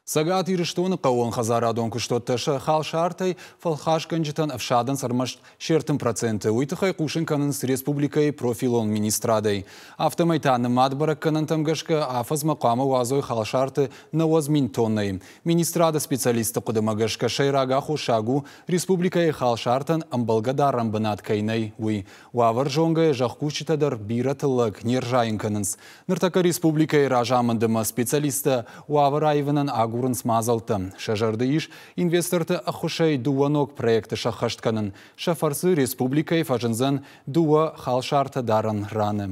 Цӕгат Ирыстоны хъӕууонхӕдзарадон куыстуӕттӕ сӕ халсартӕй фӕлхасгӕнджытӕн ӕфсадынц ӕрмӕст се 30%. Уый тыххӕй хъусын кӕнынц республикӕйы профилон министрадӕй. Афтӕмӕй та нымад бӕрӕггӕнӕнтӕм гӕсгӕ афӕдзмӕ хъуамӕ уадзой халсарты 90 000 тоннӕйы. Министрады специалистты хъуыдымӕ гӕсгӕ сӕйраг аххосаг у, республикӕйы халсартӕн ӕмбӕлгӕ дарӕн бынат кӕй нӕй, уый. Уавӕр зонгӕйӕ зӕхкусджытӕ дӕр бирӕ тыллӕг не рзайын кӕнынц. Ныртӕккӕ республикӕйы разамынды ӕмӕ специалисттӕ уавӕр аивынӕн агурынц мадзӕлттӕ. Сӕ зӕрды ис инвесторты ӕххуысӕй дыууӕ ног проекты сӕххӕст кӕнын. Сӕ фӕрцы республикӕйы фӕзындзӕн дыууӕ халсартӕ дарӕн раны.